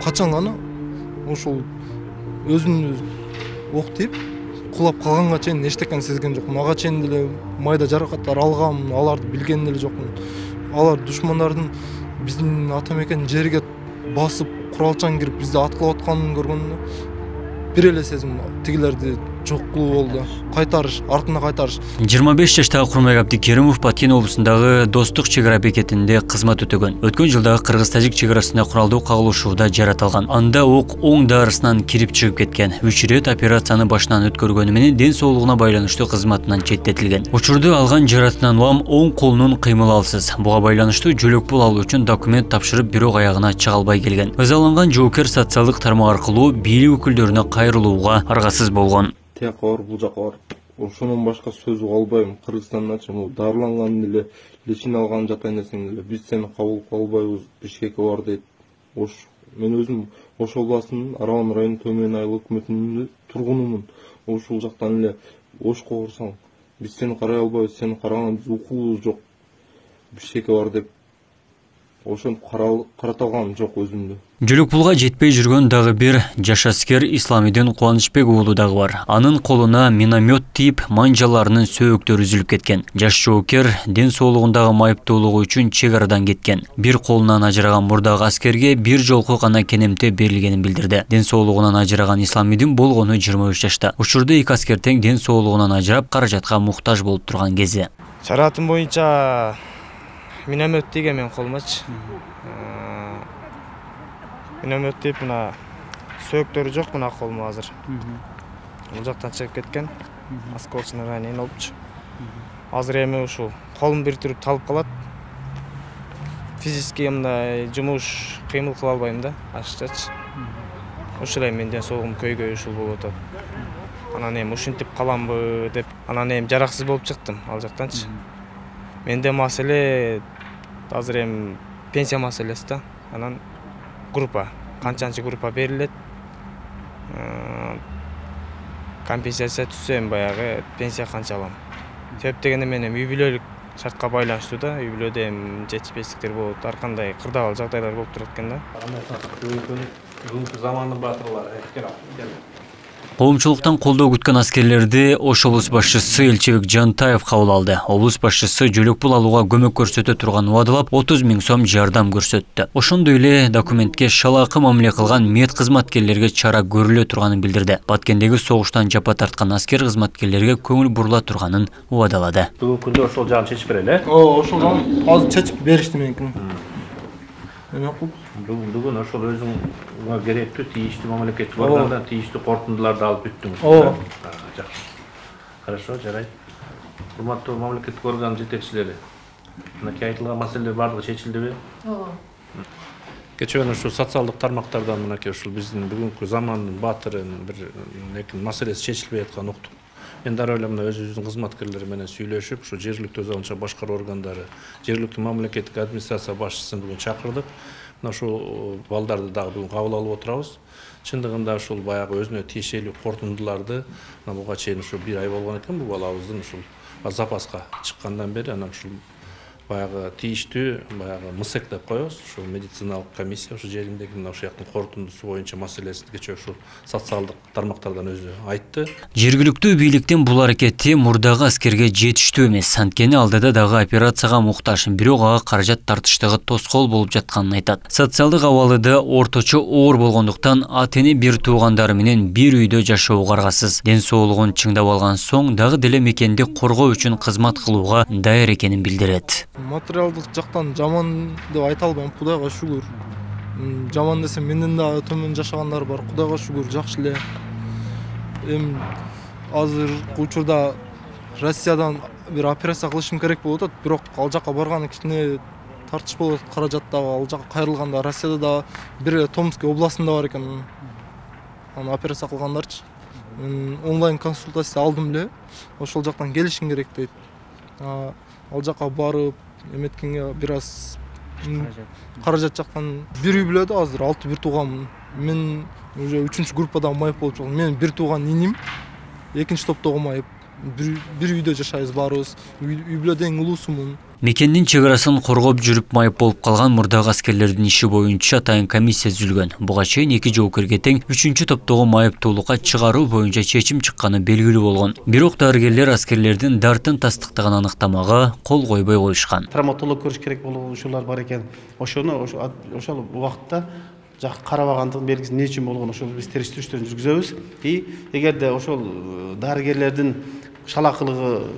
качан гана ошол өзүн октоп кулап калганга чейин эчтекени сезген жокмун. Ага чейин деле майда жаракаттар алгам, аларды билген деле жокмун. Алар душмандардын биздин ата мекен жерге басып куралчан кирип бизди аткылап атканын көргөндө бир эле сезим тигилерди жок кылуу болду. Кайтарыш, артына кайтарыш. 25 жаштагы Курманбек Абдикеримов Баткен облусундагы Достук чек ара бекетинде кызмат өтөгөн. Өткөн жылдагы Кыргыз-Тажик чек арасында куралдуу кагылышууда жаратылган. Анда ок оң дарысынан кирип чыгып кеткен. 3 рет операцияны башынан өткөргөнү менен ден соолугуна байланыштуу кызматынан четтетилген. Учурду алган жаратынан улам оң колунун кыймыл алсыз. Буга байланыштуу жөлөк пул алуу үчүн документ тапшырып, бирок аягына чыга албай келген. Ызаланган жоокер социалдык тармак аркылуу бийлик өкүлдөрүнө кайрылууга аргасыз болгон. Тияка бар, бул жака бар. Ошонун башка сөз албайм. Кыргызстандачы бул дарыланган деле, лечин алган жатайын десең деле биз сени кабыл кыла албайбыз. Бишкекке бар дейт. Мен өзүм Ош областынын Аралан районунун Төмөн айыл өкмөтүнүн тургунумун. Ошол жактан эле Ошко барсаң, биз сени карай албайбыз, сени караган укугубуз жок. Бишкекке бар деп ошентип карата алгам жок өзүмдү. Жөлөк пулга жетпей жүргөн дагы бир жаш аскер Исламидин Кубанычбек уулу дагы бар. Анын колуна миномет тийип, манжаларынын сөөктөрү үзүлүп кеткен. Жаш жоокер ден соолугундагы майыптуулугу үчүн чек арадан кеткен. Бир колунан ажыраган мурдагы аскерге бир жолку гана кенемте берилгенин билдирди. Ден соолугунан ажыраган Исламидин болгону 23 жашта. Учурда эки аскер тең ден соолугунан ажырап, каражатка муктаж болуп турган кези. Шараатым боюнча миномет тийген мен колумачы. Миномет тийип мына сөөктөрү жок мына колумда азыр. Бул жактан чыгып кеткен. Осколочный ранение болупчу. Азыр эми ушул колум бир түрүп талып калат. Физически мындай жумуш кыймыл кыла албайм да, ашыкчачы. Ушул эми менден соолугум көйгөй ушул болуп атат. Анан эми ушинтип каламбы деп, анан эми жараксыз болуп чыктым ал жактанчы. Менде маселе азыр эми пенсия маселеси да. Анан группа, канчанчы группа берилет. Компенсация түзсө эми баягы пенсия канча алам. Себеп дегенде мен эми үй бүлөлүк шартка байланыштуу да, үй бүлөдө эми жетишпестиктер болот, ар кандай кырдаал жагдайлар болуп турат экен да. Заманын батырлары. Коомчулуктан колдоо күткөн аскерлерди Ош облус башчысы Элчебек Жантаев кабыл алды. Облус башчысы жөлөк пул алууга көмөк көрсөтө турган убадалап 30 000 сом жардам көрсөттү. Ошондой эле документке шалаакы мамиле кылган мед кызматкерлерге чара көрүлө турганын билдирди. Баткендеги согуштан жапа тарткан аскер кызматкерлерге көңүл бурула турганын убадалады. Бүгүнкү күндө ошол жагын чечип берели. Ошол жагын азыр чечип беришти меникин. Бүгүн ошол өзүңө керектүү тийиштүү мамлекеттик органдан тийиштүү корутундуларды алып бүттүңүз. Жакшы. Хорошо, жарайт. Урматтуу мамлекеттик орган жетекчилери. Мынакей айтылган маселелер баардыгы чечилдиби? Кечээ ушул социалдык тармактардан мынакей ушул биздин бүгүнкү замандын батырын бир маселеси чечилбей атканын уктук. Мен дароо эле мына өзүбүздүн кызматкерлери менен сүйлөшүп, ушу жергиликтүү өз алынча башкаруу органдары, жергиликтүү мамлекеттик администрация башчысын бүгүн чакырдык. Мына ушул балдарды дагы бүгүн кабыл алып отурабыз. Чындыгында ушул баягы өзүнө тиешелүү корутундуларды мына буга чейин ушу бир ай болгон экен бул балабыздын ушул запаска чыккандан бери анан ушул баягы тийиштүү баягы МСЭК деп коебуз. Ушул медициналык комиссия ушу жериндеги мына ушул жактын корутундусу боюнча маселесин кечээ ушул социалдык тармактардан өзү айтты. Жергиликтүү бийликтин бул аракети мурдагы аскерге жетиштүү эмес. Анткени алдыда дагы операцияга муктаж, бирок ага каражат тартыштыгы тоскоол болуп жатканын айтат. Социалдык абалы да орточо оор болгондуктан ата-эне бир туугандары менен бир үйдө жашоого аргасыз. Ден соолугун чыңдап алган соң дагы деле мекенди коргоо үчүн кызмат кылууга даяр экенин билдирет. Материалдык жактан жаман деп айта албайм, Кудайга шүгүр. Жаман десем менден да төмөн жашагандар бар, Кудайга шүгүр, жакшы эле. Эми азыркы учурда Россиядан бир операция кылышым керек болуп атат, бирок ал жака барганы кичине тартыш болуп атат, каражаттагы ал жака кайрылганда Россияда да бир Томский областында бар экен. Аны операция кылгандарчы. Мен онлайн консультация алдым эле, ошол жактан келишим керек дейт. Ал жака барып эметкенге бир аз каражат жактан бир үй бүлөдө азыр 6 бир тууганмын. Мен уже 3-чү группада майып болуп чыккан. Мен бир тууган иним, экинчи топтогу майып. Бир үйдө жашайбыз баарыбыз. Үй бүлөдө эң улуусумун. Мекендин чек арасын коргоп жүрүп майып болуп калган мурдагы аскерлердин иши боюнча атайын комиссия түзүлгөн. Буга чейин 2 жоокерге тең 3-чү топтогу майыптуулукка чыгаруу боюнча чечим чыкканы белгилүү болгон. Бирок дарыгерлер аскерлердин дартын тастыктаган аныктамага кол койбой коюшкан. Травматолог көрүш керек болгон ушулар бар экен. Ошол убакытта карабагандыгын белгиси эмне үчүн болгон ошол биз териштирүүчүлөрдү жүргүзөбүз. Эгерде ошол дарыгерлердин шалакылыгы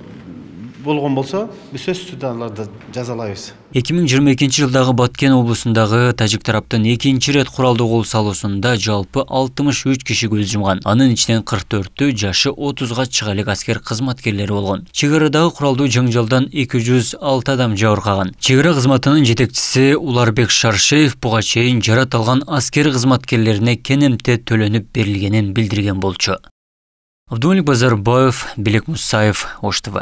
болгон болсо, биз сөзсүз аларды жазалайбыз. 2022 жылдагы Баткен облусундагы тажик тараптын 2-чи рет куралдуу кол салуусунда жалпы 63 киши көз жумган. Анын ичинен 44-тү жашы 30га чыга элек аскер кызматкерлери болгон. Чек арадагы куралдуу жаңжалдан 206 адам жабыркаган. Чек ара кызматынын жетекчиси Уларбек Шаршеев буга чейин жарат алган аскер кызматкерлерине кенемте төлөнүп берилгенин билдирген болчу. Абдулмалик Базарбаев, Белек Мусаев, Ош ТВ.